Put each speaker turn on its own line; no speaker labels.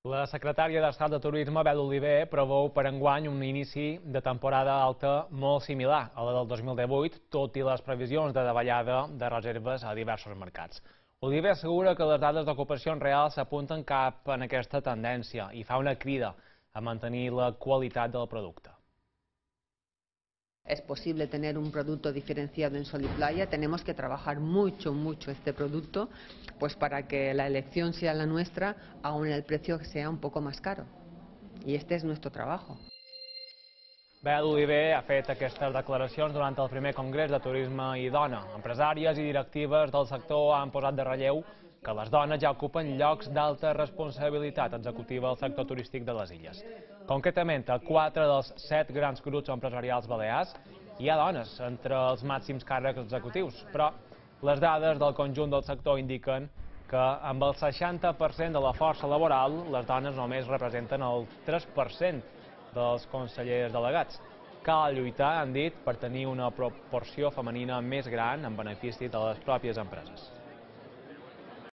La secretària d'Estat de Turisme, Bel Oliver, preveu per enguany un inici de temporada alta molt similar a la del 2018, tot i les previsions de davallada de reserves a diversos mercats. Oliver assegura que les dades d'ocupacions reals s'apunten cap en aquesta tendència i fa una crida a mantenir la qualitat del producte.
Es posible tener un producto diferenciado en sol y playa, tenemos que trabajar mucho este producto, pues para que la elección sea la nuestra, aun el precio sea un poco más caro. Y este es nuestro trabajo.
Bel Oliver ha fet aquestes declaracions durant el primer Congrés de Turisme i Dona. Empresàries i directives del sector han posat de relleu que les dones ja ocupen llocs d'alta responsabilitat executiva al sector turístic de les illes. Concretament, a 4 dels 7 grans grups empresarials balears hi ha dones entre els màxims càrrecs executius, però les dades del conjunt del sector indiquen que amb el 60% de la força laboral, les dones només representen el 3% dels consellers delegats. Cal lluitar, han dit, per tenir una proporció femenina més gran en benefici de les pròpies empreses.